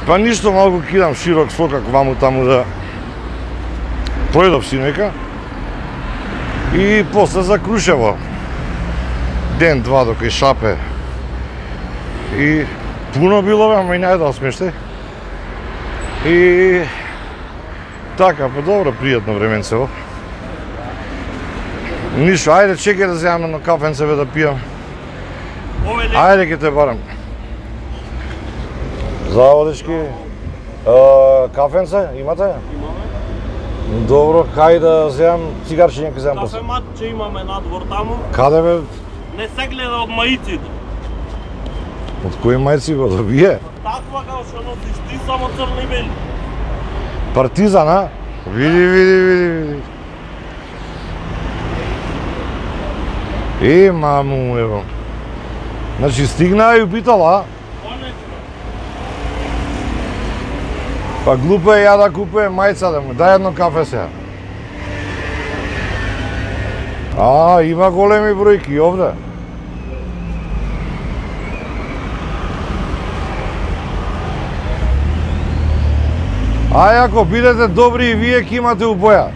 Па ништо, малку кидам широк сокак ваму таму да пројдов синојка. И после за Крушево. Ден, два до кај Шапе. И пуно било, ама и најдал смеште. И така, па добро, пријатно временцево. Ништо, ајде чекај да земам едно кафенцеве да пијам. Ајде ке те барам. Заводечки, кафенце имате? Имаме. Добро, кај да земам цигарче, ќе земам после. Кафемат, че имаме надвор таму. Каде бе? Не се гледа од маиците. Од кои мајци го да вие? Таква како што носиш ти, само црни и бели. Партизан, а? Види. Маму, ево. Значи стигна и упитала, а? Па глупо е ја да купуjem мајца да му, дај едно кафе сега. Има големи бројки овде. Ако бидете добри и вие ќе имате убоја.